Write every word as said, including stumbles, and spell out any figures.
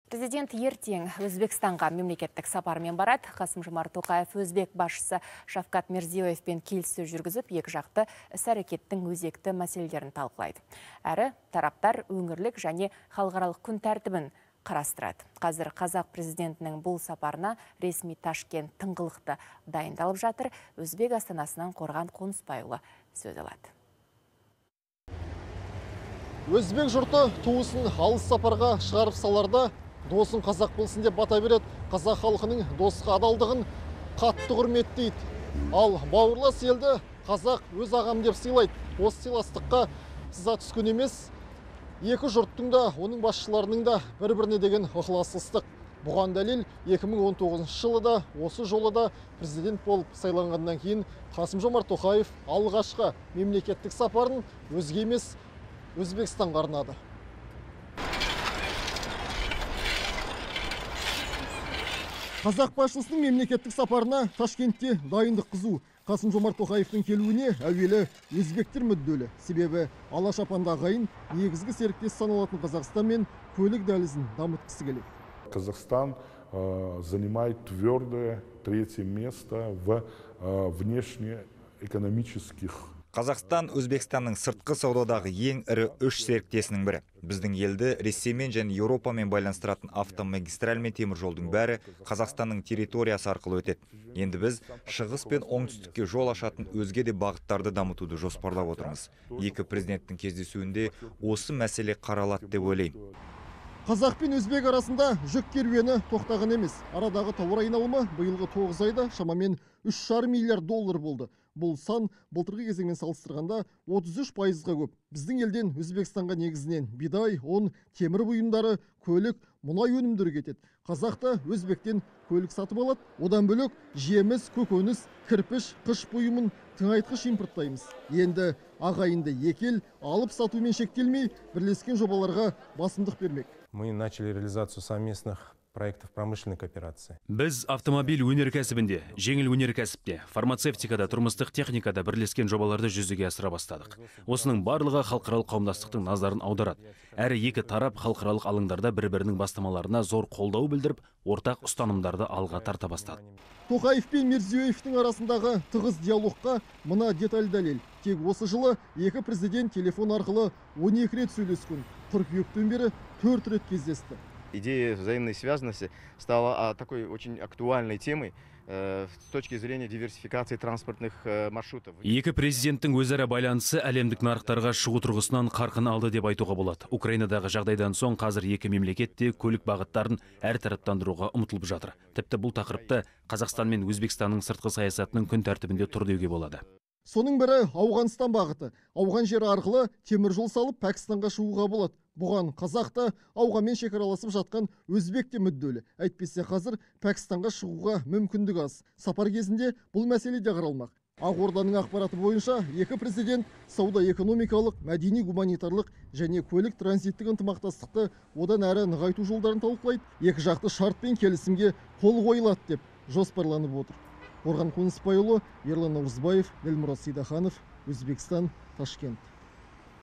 Президент ертең Өзбекстанға мемлекеттік сапармен барады. Қасым-Жомарт Тоқаев өзбек басшысы Шавкат Мирзиёевпен келіссөз жүргізіп, екі жақты іс-әрекеттің өзекті мәселелерін талқылайды. Әрі тараптар өңірлік және халықаралық күн тәртібін қарастырады. Қазір қазақ президентінің бұл сапарына ресми Ташкент тыңғылықты дайындалып жатыр. Өзбек астанасынан Қорған Қонысбайұлы сөз алады. Өзбек жұрты туысын алыс сапарға шығарып саларда досын қазақ болсын деп бата береді. Қазақ халқының досқа адалдығын қатты құрметтейді. Ал бауырлас елді қазақ өз ағам деп сыйлайды. Осы сыйластыққа сыза түскен емес, екі жұрттың да, оның басшыларының да бір-біріне деген ықыластық. Бұған дәлел екі мың он тоғызыншы жылы да, осы жолы да президент болып сайланғаннан кейін Қасым-Жомарт Тоқаев алғашқы мемлекеттік сапарын өзге емес Өзбекстанға арнады. Қазақ басшысының мемлекеттік сапарына Ташкентте дайындық қызу. Қасым-Жомарт Тоқаевтың келуіне әуелі өзбектер мүдделі. Себебі Алашапанда ағайын негізгі серіктес саналатын Қазақстан мен көлік дәлізін дамытқысы келеді. Казахстан э, занимает твердое третье место в э, внешнеэкономических. Қазақстан Өзбекстанның сыртқы саудадағы ең ірі үш серіктесінің бірі. Біздің елді Ресеймен және Еуропамен байланыстыратын автомагистраль мен темір жолдың бәрі Қазақстанның территориясы арқылы өтеді. Енді біз шығыс пен оңтүстікке жол ашатын өзге де бағыттарды дамытуды жоспарлап отырмыз. Екі президенттің кездесуінде осы мәселе қаралады деп ойлаймын. Қазақ пен өзбек арасында жүк керуені тоқтаған емес. Арадағы тауар айналымы биылғы тоғыз айда шамамен үш жарым миллиард доллар болды. Бұл сан былтырғы кезеңмен салыстырғанда отыз үш пайызға көп. Біздің елден Өзбекстанға негізінен бидай, ұн, темір бұйымдары, көлік, мұнай өнімдері кетеді. Қазақ та өзбектен көлік сатып алады. Одан бөлек жеміс, көкөніс, кірпіш, қыш бұйымын тыңайтқыш импорттаймыз. Енді ағайынды екі ел алып сатумен шектелмей, бірлескен жобаларға басымдық бермек. Мы начали реализацию совместных проектов промышленной кооперации. Біз автомобиль өнеркәсібінде, жеңіл өнеркәсіпте, фармацевтикада, тұрмыстық техникада бірлескен жобаларды жүзеге асыра бастадық. Осының барлығы халықаралық қауымдастықтың назарын аударады. Әрі екі тарап халықаралық алаңдарда бір-бірінің бастамаларына зор қолдау білдіріп, ортақ ұстанымдарды алға тарта бастады. Тоқаев пен Мирзиёевтің арасындағы тығыз диалогқа мына деталь дәлел. Тек осы жылы екі президент телефон арқылы он екі рет сөйлескен. Қыркүйектен бері төрт рет кездесті. Идея взаимной связанности стала такой очень актуальной темой с точки зрения диверсификации транспортных маршрутов. Екі президенттің өзара байланысы әлемдік нарықтарға шығу тұрғысынан қарқын алды деп айтуға болады. Украинадағы жағдайдан соң қазір екі мемлекетте көлік бағыттарын әртараптандыруға ұмтылып жатыр. Тіпті бұл тақырыпты Қазақстан мен Өзбекстанның сыртқы саясатының күн тәртібінде тұр деуге болады. Соның бірі Ауғанстан бағыты. Ауған жері арқылы темір жол салып Пәкістанға шығуға болады. Бұған қазақта Ауғанмен шекараласып жатқан өзбек те мүдделі. Әйтпесе қазір Пәкістанға шығуға мүмкіндік аз. Сапар кезінде бұл мәселе де қаралмақ. Ақорданың ақпараты бойынша екі президент сауда-экономикалық, мәдени-гуманитарлық және көлік транзиттік ынтымақтастықты одан әрі нығайту жолдарын талқылайды. Екі жақты шарт пен келісімге қол қойылады деп жоспарланып отыр. Қорған Қонысбайұлы, Ерлан Наурызбаев, Елмұрат Сейдаханов, Өзбекстан, Ташкент.